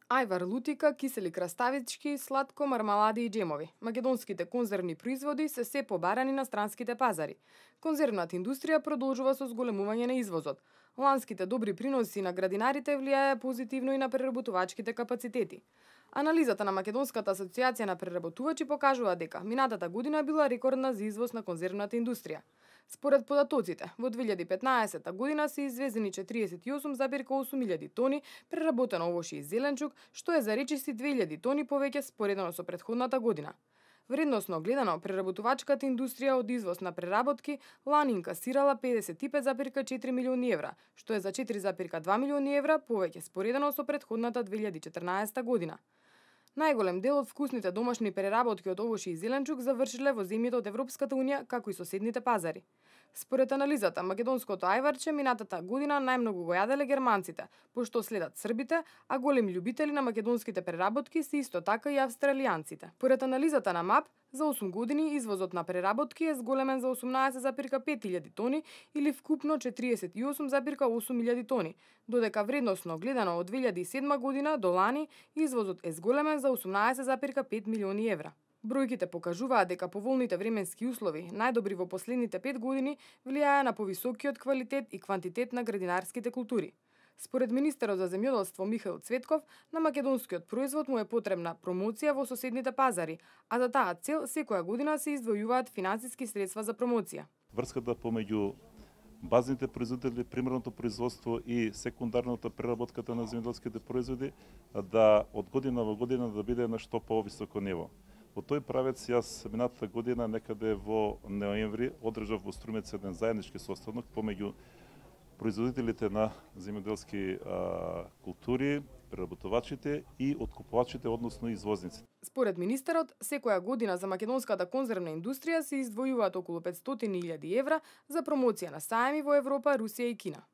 Ајвар, лутика, кисели краставички, сладко, мармалади и джемови. Македонските конзервни производи се побарани на странските пазари. Конзервната индустрија продолжува со зголемување на извозот. Ланските добри приноси на градинарите влијае позитивно и на преработувачките капацитети. Анализата на Македонската асоциација на преработувачи покажува дека минатата година била рекордна за извоз на конзервната индустрија. Според податоците, во 2015 година се извезени 48,8 милијади тони преработено овошје и зеленчук, што е за речиси 2000 тони повеќе споредено со претходната година. Вредносно гледано, преработувачката индустрија од извоз на преработки лани инкасирала 55,4 милиони евра, што е за 4,2 милиони евра повеќе споредено со претходната 2014 година. Најголем дел од вкусните домашни преработки од овошје и зеленчук завршиле во земјите од Европската унија, како и соседните пазари. Според анализата, македонското ајварче минатата година најмногу го јаделе германците, пошто следат србите, а големи љубители на македонските преработки се исто така и австралијанците. Според анализата на МАП, за 8 години извозот на преработки е зголемен за 18,5 илјади тони или вкупно 48,8 милијади тони, додека вредносно гледано од 2007 година до лани извозот е зголемен за 18,5 милиони евра. Бројките покажуваат дека поволните временски услови, најдобри во последните 5 години, влијае на повисокиот квалитет и квантитет на градинарските култури. Според министерот за земјоделство Михаил Цветков, на македонскиот производ му е потребна промоција во соседните пазари, а за таа цел секоја година се издвојуваат финансиски средства за промоција. Врската помеѓу базните производители, примерното производство и секундарната преработката на земјоделските производи да од година во година да биде на што повисоко ниво. Во тој правец јас минатата година некаде во ноември одржав во Струмец еден заеднички состанок помеѓу производителите на земјоделски култури, преработувачите и откупувачите, односно извозниците. Според министерот, секоја година за македонската конзервна индустрија се издвојуваат околу 500.000 евра за промоција на сајми во Европа, Русија и Кина.